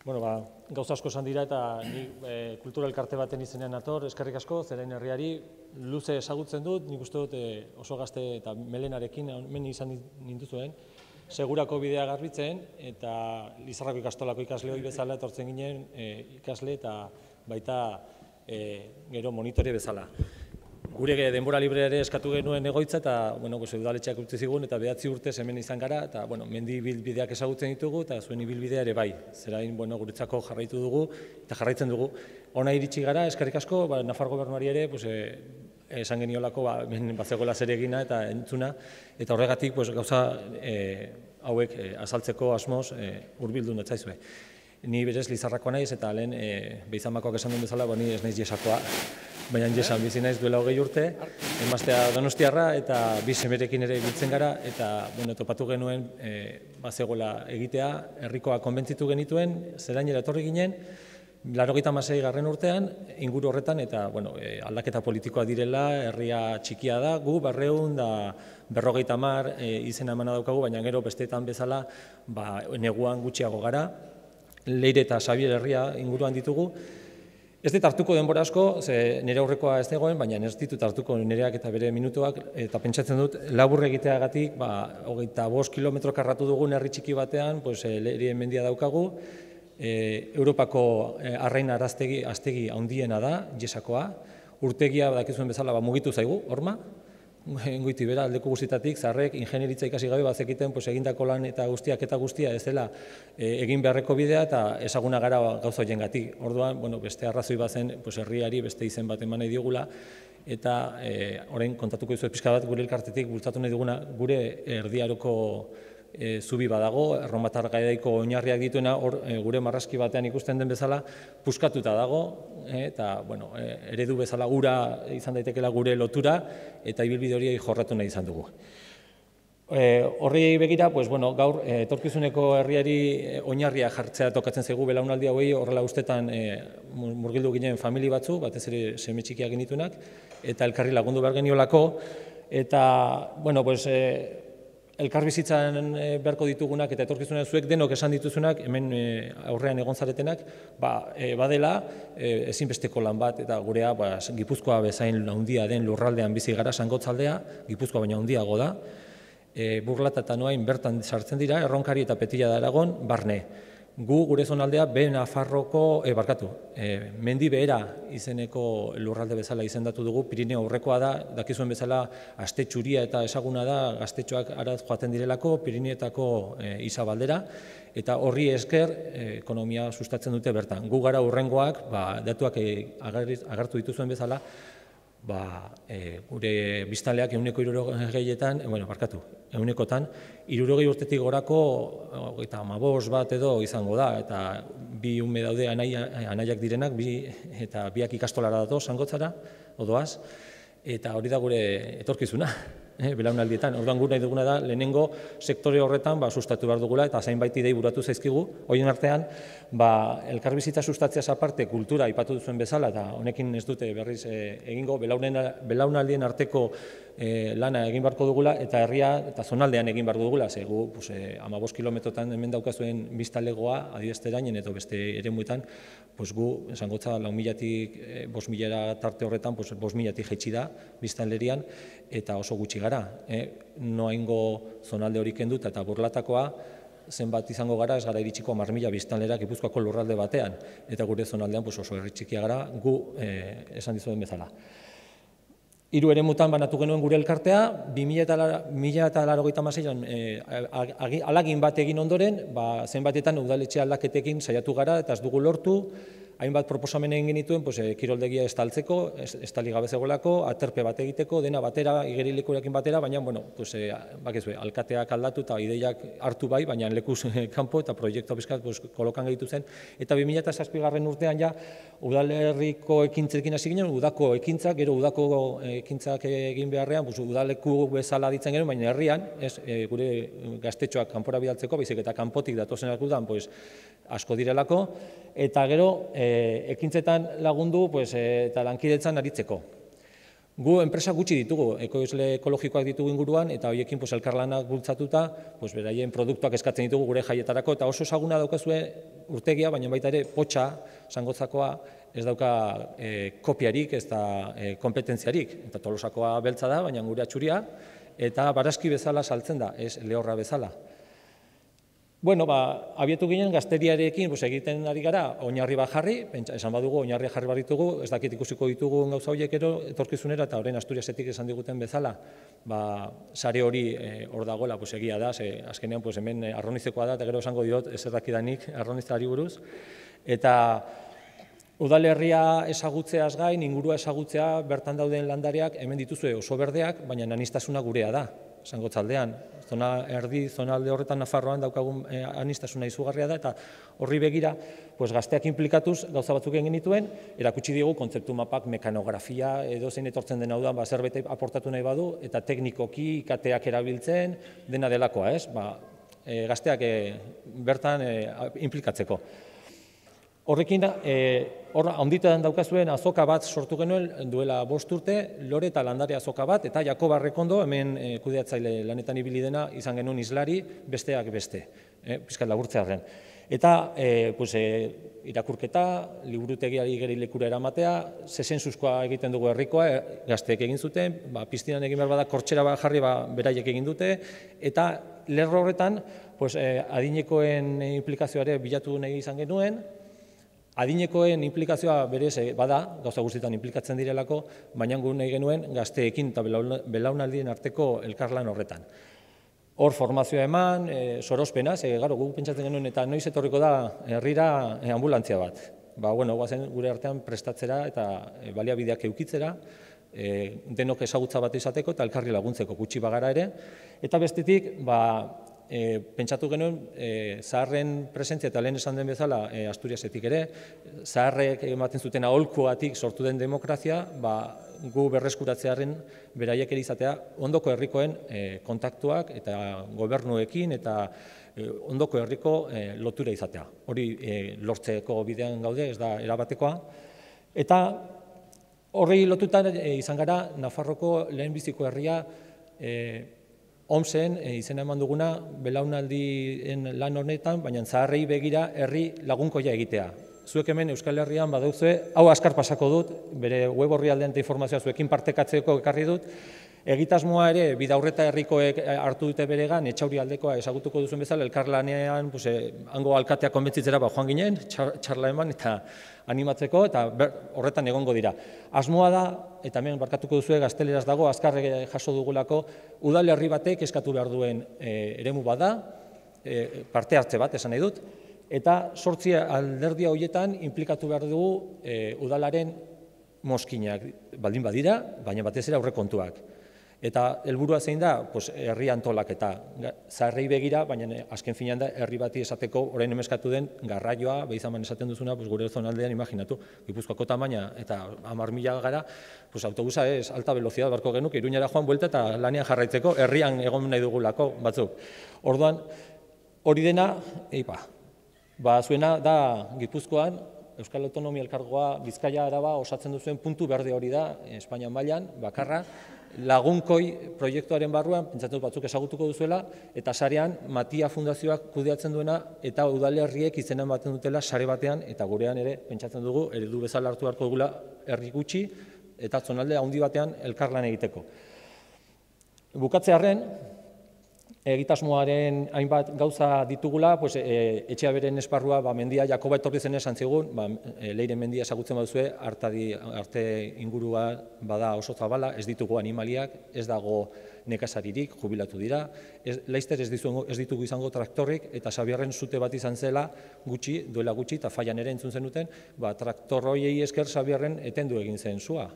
Bueno, gauza asko esan dira eta ni kultura elkarte baten izenean nator, eskerrik asko, zeren herriari luze ezagutzen dut, nik uste dut oso gazte eta melenarekin, hemen izan ninduzuen, segurako bidea garbitzen, eta Lizarrako ikastolako ikasle hori bezala etortzen ginen ikasle eta baita gero monitore bezala. Gure denbora libreare eskatu genuen egoitza eta udaletxeak utzi zigun eta 9 urtez hemen izan gara eta mendi ibilbideak ezagutzen ditugu eta zuen ibilbidea ere bai. Zerain guretzako jarraitu dugu eta jarraitzen dugu. Ona iritsi gara, eskerrik asko, Nafar gobernuari ere esan geniolako bazegoela zeregina eta entzuna eta horregatik gauza hauek azaltzeko asmoz hurbildu natzaizue. Ni berez Lizarrakoa naiz eta lehen Beizamakoak esan duen bezala, ni ez naiz Jesakoa, baina Jesan bizi naiz duela 20 urte, emaztea Donostiarra eta bi semerekin ere biltzen gara eta topatu genuen bazegoela egitea, herrikoa konbentzitu genituen, zerainera etorri ginen, 86. urtean, inguru horretan eta aldaketa politikoa direla, herria txikia da, gu 250 izena emana daukagu, baina gero besteetan bezala neguan gutxiago gara, Leire eta Xabier herria inguruan ditugu. Ez dit hartuko denbora asko, nire aurrekoa ez dagoen, baina ez ditut hartuko nireak eta bere minutuak, eta pentsatzen dut, labur egiteagatik, 25 kilometro karratu dugun herri txiki batean, Leire mendia daukagu, Europako arrain aztegi handiena da, Jesakoa, urtegia dakizuen bezala mugitu zaigu, horma, goiti bera, aldeko guztietatik, zarrek, ingenieritza ikasi gabe bazekiten egindako lan eta guztia ez dela egin beharreko bidea eta ezaguna gara gauza horiengatik. Orduan, beste arrazoi bazen herriari beste izen bat eman nahi diogula eta orain kontatuko dizuet pixka bat gure elkartetik bultzatu nahi duguna gure erdiaroko zubi badago, erromatar garaiko oinarriak dituena, gure marrazki batean ikusten den bezala, puskatuta dago, eta eredu bezala ura izan daitekeela gure lotura, eta ibilbide hori jorratu nahi izan dugu. Horri begira, gaur etorkizuneko herriari oinarria jartzea tokatzen zaigu belaunaldi hauei, horrela ustetan murgildu ginen famili batzu, batez ere seme txikiak genitunak, eta elkarri lagundu behar geniolako, eta, elkarbizitzan beharko ditugunak eta etorkizunean zuek denok esan dituzunak, hemen aurrean egon zaretenak, badela ezinbesteko lan bat eta gurea Gipuzkoa bezain handia den lurraldean bizi gara Sangotzaldea, Gipuzkoa baina handiago da, Burlata eta Noain bertan sartzen dira, Erronkari eta Petilla da Aragon, barne. Gu gure zonaldea mendi behera izeneko lurralde bezala izendatu dugu, Pirineo aurrekoa da, dakizuen bezala aste txuria eta esaguna da, gaztetxoak araz joaten direlako, Pirineetako izabaldera, eta horri esker ekonomia sustatzen dute bertan. Gu gara hurrengoak, datuak agertu dituzuen bezala, gure biztanleak 160etan, 60 urtetik gorako 15 bat edo izango da, eta bi ume daude anaiak direnak, eta biak ikastolara dato Sangotzara, odoaz, eta hori da gure etorkizuna, belaunaldietan. Orduan gure nahi duguna da, lehenengo sektore horretan sustatu behar dugula, eta zainbait idei buratu zaizkigu, horien artean, elkarbizitza sustatzeaz aparte kultura aipatu duzuen bezala, eta honekin ez dute berriz egingo, belaunaldien arteko lana egin beharko dugula, eta herria eta zonaldean egin beharko dugula, gu 15 kilometrotan hemen daukazuen biztanlegoa, adibesterainen eta beste eremuetan, gu, Zangotza 4.000-tik 5.000 tarte horretan, 5.000-tik jaitsi da biztanlerian, eta oso gutxi gara. Noaingo zonalde hori kenduta eta Burlatakoa, zenbat izango gara, ez gara iritsiko 10.000 biztanlera Gipuzkoako lurralde batean, eta gure zonaldean oso herri txikia gara, gu esan dizuen bezala. 3 eremutan banatu genuen gure elkartea, 2086an alagin bat egin ondoren, zenbatetan udaletxe aldaketekin saiatu gara eta ez dugu lortu, hainbat proposamen egin genituen kiroldegia estaltzeko, estali gabe zegoelako, aterpe bat egiteko, dena batera, igerilekurekin batera, baina, alkateak aldatu eta ideiak hartu bai, baina lekuz kanpo eta proiektu bizkat kolokan gehitu zen. Eta 2007 urtean ja, udalerriko ekintzekin hasi ginen, udako ekintzak, gero udako ekintzak egin beharrean, udaleku bezala ditzen genuen, baina herrian, gure gaztetxoak kanpora bidaltzeko, baizik eta kanpotik datozenak udan, asko direlako, eta gero ekintzetan lagundu eta lankidetzan aritzeko. Gu enpresa gutxi ditugu, ekoizle ekologikoak ditugu inguruan, eta horiekin elkarlanak bultzatuta, beraien produktuak eskatzen ditugu gure jaietarako, eta oso ezaguna daukazue urtegia, baina baita ere potxa, Zangotzakoa, ez dauka kopiarik, ez da kompetentziarik, eta Tolosakoa beltza da, baina gure atxuria, eta barazki bezala saltzen da, ez lehorra bezala. Bueno, abietu ginen gazteriarekin egiten ari gara oinarri bat jarri, esan badugu oinarri jarri bat ditugu, ez dakit ikusiko ditugu gauza horiek etorkizunera, eta orain Asturiasetik esan diguten bezala, sare hori hor dagoela egia da, azkenean hemen arronizekoa da, eta gero esango diot ez dakidanik arronizari buruz, eta udalerria ezagutzeaz gain, ingurua ezagutzea, bertan dauden landareak, hemen dituzue oso berdeak, baina anistasuna gurea da. Zangotzaldean, zonalde horretan Nafarroan daukagun anistasuna izugarria da, eta horri begira, gazteak inplikatuz gauza batzuk egin genituen, erakutsi digu kontzeptu mapak, mekanografia, edo zein etortzen den hau da, zerbait aportatu nahi badu, eta teknikoki ikateak erabiltzen, dena delakoa, ez? Gazteak bertan inplikatzeko. Horrekin, handitan daukazuen azoka bat sortu genuen duela 5 urte, lore eta landare azoka bat, eta Jakoba Arrekondo, hemen kudeatzaile lanetan ibili dena, izan genuen islari, besteak beste, pixkat laburtzearren. Eta irakurketa, liburutegiari gerilekura eramatea, zezensuzkoa egiten dugu herrikoa, gazteek egin zuten, piztinan egin behar bada, kortxera bat jarri beraiek egin dute, eta lerro horretan, adinekoen implikazioare bilatu nahi izan genuen, adinekoen implikazioa berez bada, gauza guztietan inplikatzen direlako, baina gu nahi genuen gazteekin eta belaunaldien arteko elkarlan horretan. Hor formazioa eman, sorospenaz, guk pentsatzen genuen eta noiz etorriko da herrira ambulantzia bat. Guazen gure artean prestatzera eta baliabideak eukitzera, denok ezagutza bat izateko eta elkarri laguntzeko gutxi bagara ere, eta bestetik, pentsatu genuen zaharren presentzia eta lehen esan den bezala Asturiasetik ere, zaharrek ematen zuten aholkuatik sortu den demokrazia, gu berreskuratzearen beraiek ere izatea ondoko herrikoen kontaktuak eta gobernuekin eta ondoko herriko lotura izatea. Hori lortzeko bidean gaude, ez da erabatekoa. Eta horri lotutan izan gara Nafarroko lehenbiziko herria OMSen izena eman duguna belaunaldien lan honetan, baina zaharrei begira herri lagunkoia egitea. Zuek hemen Euskal Herrian badauzue, hau azkar pasako dut, bere web orrialdean eta informazioa zuekin partekatzeko ekarri dut, egitasmoa ere bidaurreta herrikoek hartu dute beregan, Etxauri aldekoa ezagutuko duzuen bezala, elkarlanean hango alkatea konbentzitzera joan ginen, txarla eman eta animatzeko, eta horretan egongo dira. Asmoa da, eta hemen barkatuko duzue gazteleraz dago, azkar jaso dugulako, udalerri batek eskatu behar duen eremu bada, parte hartze bat, esan nahi dut, eta 8 alderdia horietan inplikatu behar dugu udalaren mozkinak baldin badira, baina batez ere aurrekontuak. Eta helburua zein da, herri antolaketa, zaharrei begira, baina azken finean da herri bati esateko orain emeskatu den garraioa, behizaman esaten duzuna, gure zonaldean imaginatu, Gipuzkoako tamaina eta 10.000 gara, autobusa ez, alta velocidad barko genuk, Iruñara joan buelta eta lanean jarraitzeko, herrian egon nahi dugulako batzuk. Orduan, hori dena, zuena da Gipuzkoan, Euskal Autonomia Elkargoa, Bizkaia Araba osatzen duzuen puntu berde hori da, Espainia mailan, bakarra, lagunkoi proiektuaren barruan, pentsatzen batzuk ezagutuko duzuela, eta sarean Matia Fundazioak kudeatzen duena, eta udalerriek izena ematen dutela sare batean, eta gurean ere, pentsatzen dugu, eredu bezala hartu beharko dugula herri gutxi, eta zonalde handi batean elkarlan egiteko. Bukatzearren, egitasmoaren hainbat gauza ditugula, etxea beren esparrua, mendia Jakoba etorri zen esan zigun, Leire mendia ezagutzen baduzue, arte ingurua bada oso zabala, ez ditugu animaliak, ez dago nekazaririk, jubilatu dira, laizter ez ditugu izango traktorrik, eta Xabierren zute bat izan zela duela gutxi, eta Faian ere entzun zenuten, traktor horiei esker Xabierren etendu egin zen zua.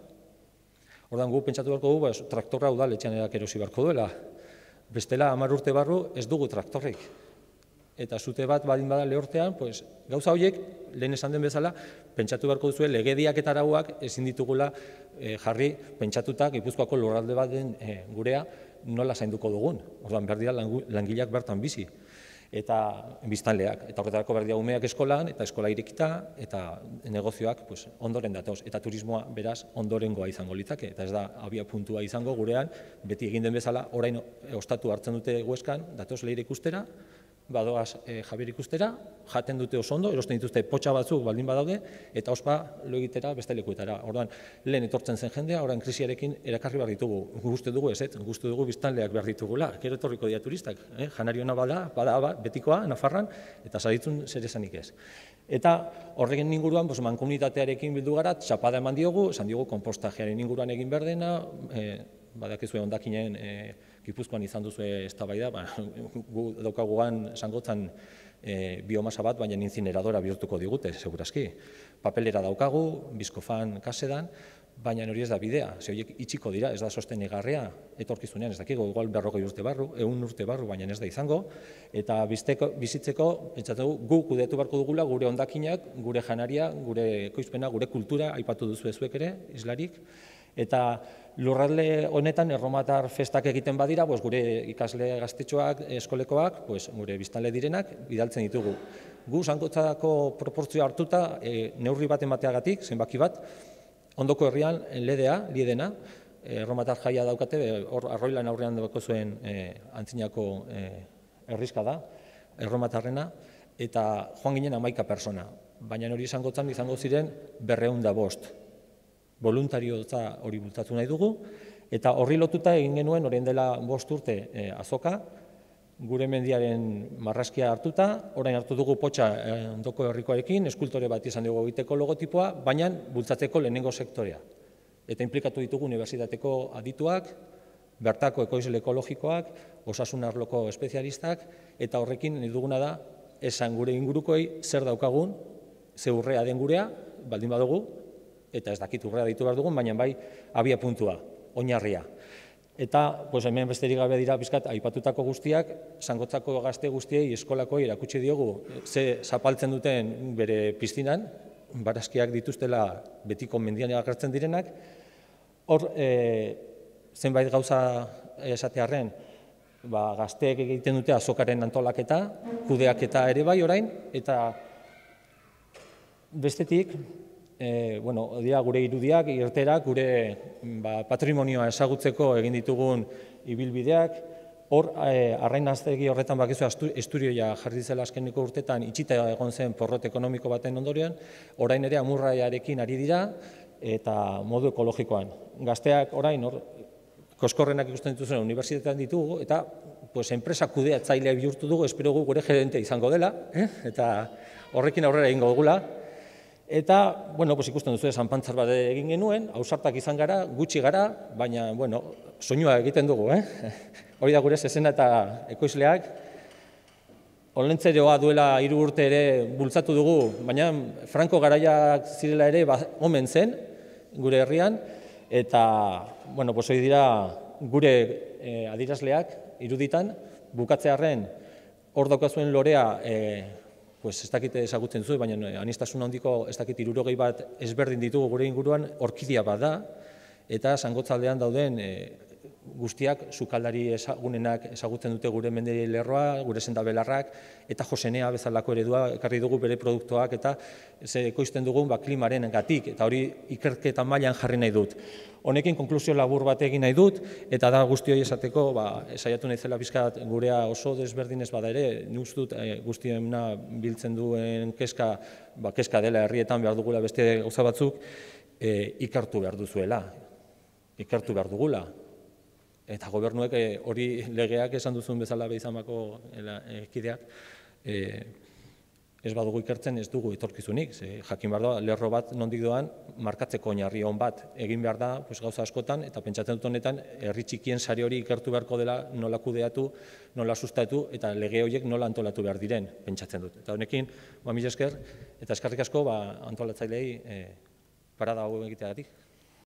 Ordan gu pentsatu beharko dugu, traktorra udaletxean erosi beharko duela. Bestela 10 urte barru ez dugu traktorrik. Eta zute bat badin bada lehortean, gauza horiek, lehen esan den bezala, pentsatu beharko duzue legediak eta arauak ezin ditugula jarri pentsatuta Gipuzkoako lurralde bat den gurea nola zainduko dugun. Orduan behar dira langileak bertan bizi. eta biztanleak. Eta horretarako behar dira umeak eskolan, eta eskola irekita, eta negozioak ondoren datoz. Eta turismoa beraz ondorengoa izango litzake. Eta ez da abia puntua izango gurean, beti egin den bezala, orain ostatu hartzen dute Hueskan, datoz Leire ikustera, badoaz Javier ikustera, jaten dute oso ondo, erosten dituzte potxa batzuk baldin badaude, eta ospa lo egitera beste lekuetara. Orduan, lehen etortzen zen jendea, orain krisiarekin erakarri behar ditugu. Gustu dugu ez, gustu dugu biztanleak behar ditugula. Gero etorriko dira turistak, janariona bada betikoa, Nafarran, eta saditzun zer esanik ez. Eta horregen inguruan, mankomunitatearekin bildu gara, txapada eman diogu, esan diogu konpostajearen inguruan egin behar dena, badakizue hondakinen Gipuzkoan izan duzue eztabaida, gu daukaguan Sangotzan biomasa bat, baina inzineradora bihurtuko digute, segurazki. Papelera daukagu, Bizkofan kasedan, baina hori ez da bidea, ze horiek itxiko dira, ez da sostenegarria, etorkizunean, ez dakigo, igual 40 urte barru, 100 urte barru, baina ez da izango, eta bizitzeko, gu kudeatu beharko dugula gure hondakinak, gure janaria, gure ekoizpena, gure kultura, aipatu duzu zuek ere, islarik, eta lurralde honetan erromatar festak egiten badira, gure ikasle gaztetxoak, eskolekoak, gure biztanle direnak, bidaltzen ditugu. Gu Sangotzako proportzioa hartuta, neurri bat emateagatik, zenbaki bat, ondoko herrian liedena, erromatar jaia daukate, hor Arroilan aurrean dauko zuen antzinako herrizka da, erromatarrena, eta joan ginen 11 persona, baina hori Sangotzan izango ziren 205. Voluntariotza hori bultzatu nahi dugu, eta horri lotuta egin genuen orain dela 5 urte azoka, gure mendiaren marrazkia hartuta, orain hartu dugu potxa ondoko herrikoarekin, eskultore bat izan dugu egiteko logotipoa, baina bultzatzeko lehenengo sektorea. Eta inplikatu ditugu unibertsitateko adituak, bertako ekoizle ekologikoak, osasun arloko espezialistak, eta horrekin nahi duguna da, esan gure ingurukoei zer daukagun, ze urrea den gurea, baldin badugu, eta ez dakit urrea ditu behar dugun, baina bai abia puntua, oinarria. Eta hemen besterik gabe dira bizkat aipatutako guztiak, Sangotzako gazte guztiei eskolakoi erakutsi diogu ze zapaltzen duten bere piztinan, barazkiak dituztela betiko mendian agertzen direnak, hor zenbait gauza esatearren, gazteek egiten dute azokaren antolaketa, kudeaketa ere bai orain, eta bestetik, dira gure irudiak, irterak, gure patrimonioa ezagutzeko egin ditugun ibilbideak, hor, arrainaztegi horretan bakizu Esturioia jarri zela azkeneko urtetan itxita egon zen porrot ekonomiko baten ondorioan, orain ere amurraiarekin ari dira, eta modu ekologikoan. Gazteak orain, koskorrenak ikusten dituzuen unibertsitatean ditugu, eta enpresa kudeatzailea bihurtu dugu, espero gu gure gerente izango dela, eta horrekin aurrera egingo dugula. Eta, ikusten duzu, zanpantzar bat egin genuen, ausartak izan gara, gutxi gara, baina, soinua egiten dugu, hori da gure zezena eta ekoizleak. Olentzeroa duela 3 urte ere bultzatu dugu, baina Franco garaiak zirela ere omen zen, gure herrian, eta, hori dira gure adierazleak iruditan, bukatzearren hor daukazuen lorea, ez dakit ezagutzen zuen, baina aniztasun handiko ez dakit 60 bat ezberdin ditugu gure inguruan, orkidia bat da, eta Sangotzaldean dauden guztiak, sukaldari ezagunenak ezagutzen dute gure mende lerroa, gure sendabelarrak, eta Josenea bezalako eredua ekarri dugu bere produktuak, eta ekoizten dugun klimaren gatik, eta hori ikerketa mailan jarri nahi dut. Honekin konklusio labur bat egin nahi dut, eta da guzti hori esateko, saiatu nahi zela bizkat gurea oso desberdinez bada ere, nik uste dut guztiena biltzen duen kezka dela herrietan behar dugula beste gauza batzuk, ikertu behar duzuela, ikertu behar dugula. Eta gobernuek hori legeak esan duzun bezala behizamako kideak, ez badugu ikertzen ez dugu etorkizunik. Jakin behar da, lerro bat nondik doan, markatzeko oinarri on bat egin behar da gauza askotan, eta pentsatzen dut honetan, herri txikien sari hori ikertu beharko dela nola kudeatu, nola sustatu, eta lege horiek nola antolatu behar diren, pentsatzen dut. Eta honekin, mila esker, eta eskerrik asko antolatzailei parada hau egiteagatik.